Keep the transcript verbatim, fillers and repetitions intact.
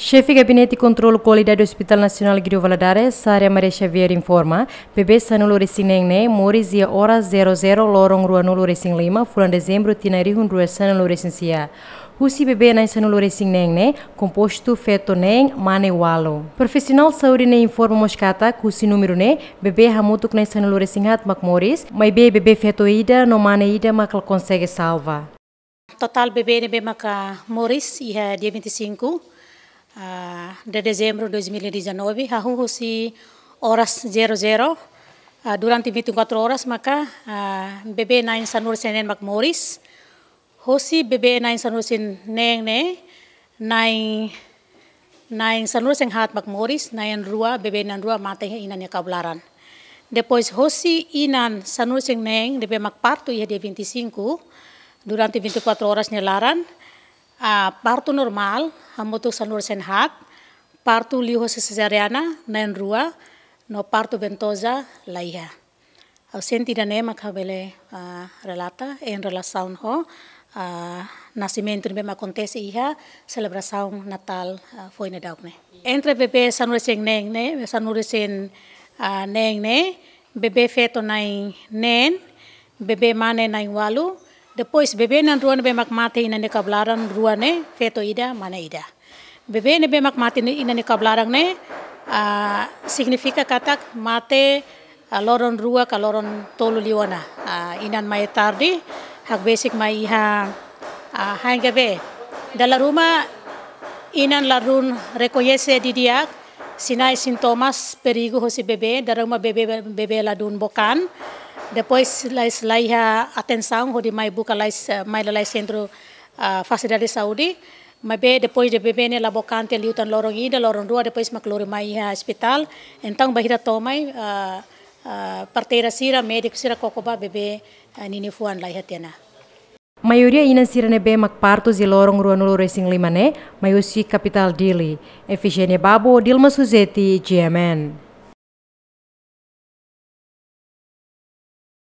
Xefe Gabinete Kontrolu Kualidade Hospital Nasionál Guido Valadares, Sara Maria Xavier informa, bebé sanulu-resin-neen ne'e moris iha oras zero zero loron ruanulu-resin-lima fulan Dezembru tinan rihun rua sanulu-resin-sia. Husi bebé na'in sanulu-resin-neen ne'e kompostu feto neen, mane ualu. Profisionál saúde ne'e informa mós katak husi númeru ne'e, bebé hamutuk na'in sanulu-resin-haat mak moris, maibé bebé feto ida no mane ida mak la konsege salva. Totál bebé ne'ebé maka moris iha dia vinte e cinco, ah, de dezembro dois mil e dezanove, hahú husi oras zero zero, ah, durante vinte e quatro horas maka, ah, bebé na'in sanulu-resin-neen mak moris. Hosi bebé na'in sanulu-resin-neen ne'e, na'in, na'in sanulu-resin-haat mak moris, na'in rua, bebé na'in rua mate iha inan nia kabun laran. Depois hosi inan sanulu-resin-neen ne'ebé mak partu iha dia vinte e cinco, durante vinte e quatro horas nia laran, ah, partu normál, hamutuk sanulu-resin-haat, partu liuhosi sezariana, na'in rua, no partu ventoza, laiha. Ausente ida-ne'e mak ha'u bele, ah, relata, en relasaun ho, ah, nasimentu ne'ebé mak akontese iha selebrasaun Natál, ah, foin daudauk ne'e. Entre bebé sanulu-resin-neen ne'e, sanulu-resin, ah, neen ne'e, bebé feto na'in neen, bebé mane na'in ualu, depois bebé na'in rua ne'ebé mak mate iha inan nia kabun laran rua ne'e, feto ida, mane ida. Bebé ne'ebé mak mate iha inan nia kabun laran ne'e, ah, signifika katak mate, ah, loron rua ka loron tolu liu ona. Ah, inan mai tarde, hakbesik mai iha, ah, H N G V. Dala ruma inan ladún rekoñese didi'ak sinais sintomas perigu hosi bebé, dala ruma bebé, bebé ladún bokan. Depois lais laiha atensaun hodi mai buka lais, eh, mai lalais sentru, ah, fasilidade saúde. Maibé depois de bebé ne'e la bokan tiha liután loron ida, loron rua, depois mak lori mai iha ospitál. Entaun bainhira to'o mai, ah, ah, parteira sira, médiku sira koko ba bebé, ah, ninia fuan laiha tiha ona. Maioria inan sira ne'ebé mak partu iha loron ruanulu-resin-lima ne'e, mai husi kapitál Dili. Efigénia Babo, Dilma Suzeti, G M N.